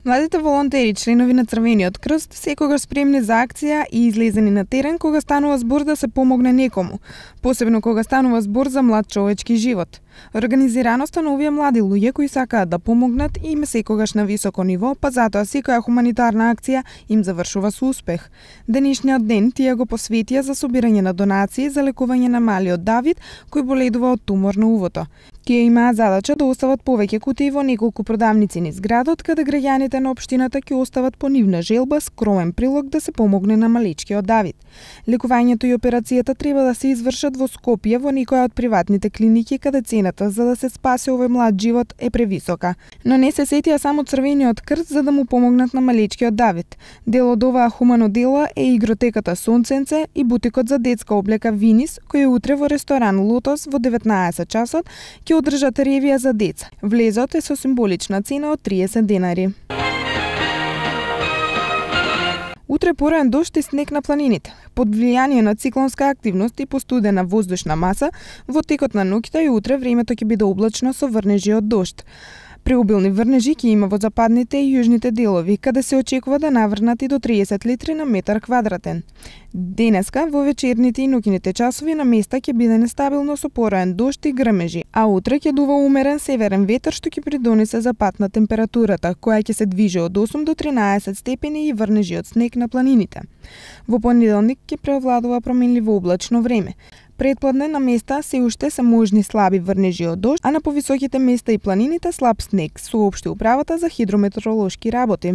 Младите волонтери, членови на Црвениот крст, секогаш спремни за акција и излезени на терен кога станува збор да се помогне некому, посебно кога станува збор за млад човечки живот. Организираноста на овие млади луѓе кои сакаат да помогнат им е секогаш на високо ниво, па затоа секоја хуманитарна акција им завршува со успех. Денешниот ден тие го посветија за собирање на донации за лекување на малиот Давид, кој боледува од тумор на увото. Тие имаат задача да остават повеќе кутии во неколку продавници низ градот, каде граѓаните на општината ќе остават по нивна желба скромен прилог да се помогне на малечкиот Давид. Лекувањето и операцијата треба да се извршат во Скопје во некоја од приватните клиники каде цената за да се спаси овој млад живот е превисока. Но не се сетија само Црвениот крст за да му помогнат на малечкиот Давид. Дел од оваа хумано дело е игротеката Сонценце и бутикот за детска облека Винис, кој утре во ресторан Лотос во 19 часот ќе одржат ревија за деца. Влезот е со символична цена од 30 денари. Утре пораен дожд и снег на планините. Под влијание на циклонска активност и постудена воздушна маса, во текот на ноќта и утре времето ќе биде облачно со врнежи од дожд. Преобилни врнежи ќе има во западните и јужните делови, каде се очекува да наврнат и до 30 литри на метар квадратен. Денеска, во вечерните и ноќните часови на места ќе биде нестабилно со пораен дожд и грмежи, а утре ќе дува умерен северен ветер што ќе придонесе за пат на температурата, која ќе се движи од 8 до 13 степени и врнежи од снег на планините. Во понеделник ќе преовладува променливо облачно време. Предпладне на места се уште се можни слаби врнежи од дожд, а на повисоките места и планините слаб снег, соопшти управата за хидрометеоролошки работи.